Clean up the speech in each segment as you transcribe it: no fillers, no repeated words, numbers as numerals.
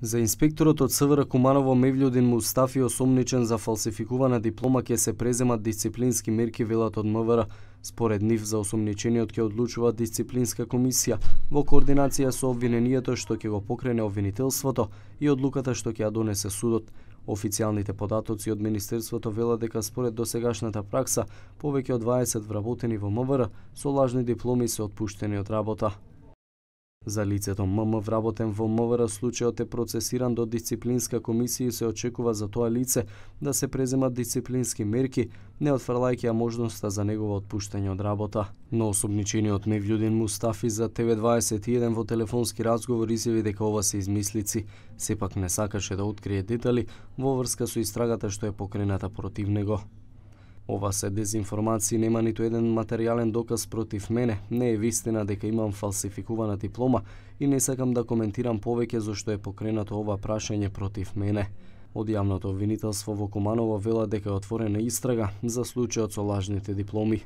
За инспекторот од СВР Куманово Мевљудин Мустафи, осомничен за фалсификувана диплома, ќе се преземат дисциплински мерки, велат од МВР. Според нив, за осомничениот ќе одлучува дисциплинска комисија во координација со обвинението што ќе го покрене обвинителството и одлуката што ќе ја донесе судот. Официјалните податоци од Министерството велат дека според досегашната пракса, повеќе од 20 вработени во МВР со лажни дипломи се отпуштени од работа. За лицето ММ вработен во МВР, случајот е процесиран до дисциплинска комисија и се очекува за тоа лице да се преземат дисциплински мерки, не отфрлајќи ја можноста за негово отпуштање од работа. Но осомничениот Мевљудин Мустафи за ТВ21 во телефонски разговор изјави дека ова се измислици, сепак не сакаше да открие детали во врска со истрагата што е покрената против него. Ова се дезинформации, нема ниту еден материјален доказ против мене, не е вистина дека имам фалсификувана диплома и не сакам да коментирам повеќе зашто е покренато ова прашање против мене. Од јавното обвинителство во Куманово вела дека е отворена истрага за случајот со лажните дипломи.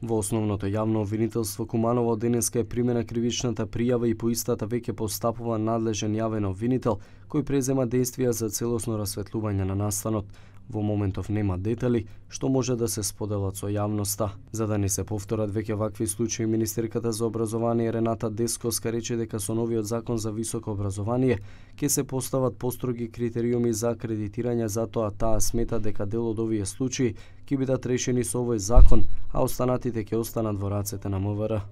Во основното јавно обвинителство Куманово денеска е примена кривичната пријава и по истата веќе постапува надлежен јавен обвинител кој презема действија за целосно расветлување на настанот. Во моментов нема детали што може да се споделат со јавноста. За да не се повторат веќе вакви случаи, министерката за образование Рената Десковска рече дека со новиот закон за високо образование ќе се постават построги критериуми за акредитирање, затоа таа смета дека дел од овие случаи ќе бидат решени со овој закон, а останатите ќе останат во рацете на МВР.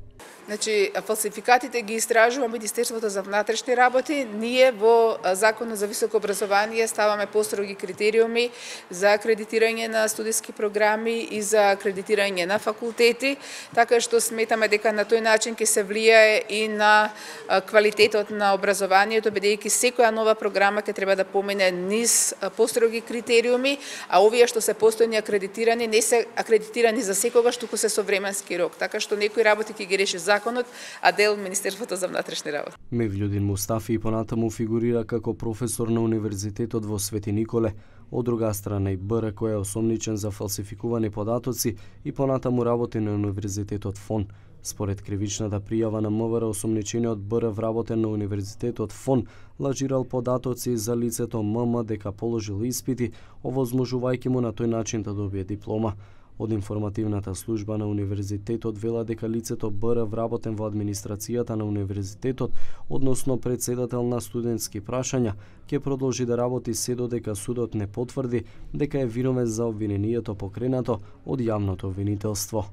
Значи, фалсификатите ги истражува Министерството за внатрешни работи. Ние во Законот за високо образование ставаме построги критериуми за акредитирање на студиски програми и за акредитирање на факултети, така што сметаме дека на тој начин ќе се влијае и на квалитетот на образованието, бидејќи секоја нова програма ќе треба да помине низ построги критериуми, а овие што се постојни акредитирани не се акредитирани за секогаш, туку се со временски рок, така што некои работи ќе ги реши законот, а дел Министерството за внатрешни работи. Мевљудин Мустафи и понатаму фигурира како професор на Универзитетот во Свети Николе. Од друга страна и БР, кој е осомничен за фалсификувани податоци и понатаму работи на Универзитетот ФОН. Според кривичната пријава на МВР, осомничениот БР вработен на Универзитетот ФОН лажирал податоци за лицето ММ дека положил испити, овозможувајќи му на тој начин да добие диплома. Од информативната служба на Универзитетот вела дека лицето БР вработен во администрацијата на Универзитетот, односно председател на студентски прашања, ќе продолжи да работи се додека судот не потврди дека е виновен за обвинението покренато од јавното обвинителство.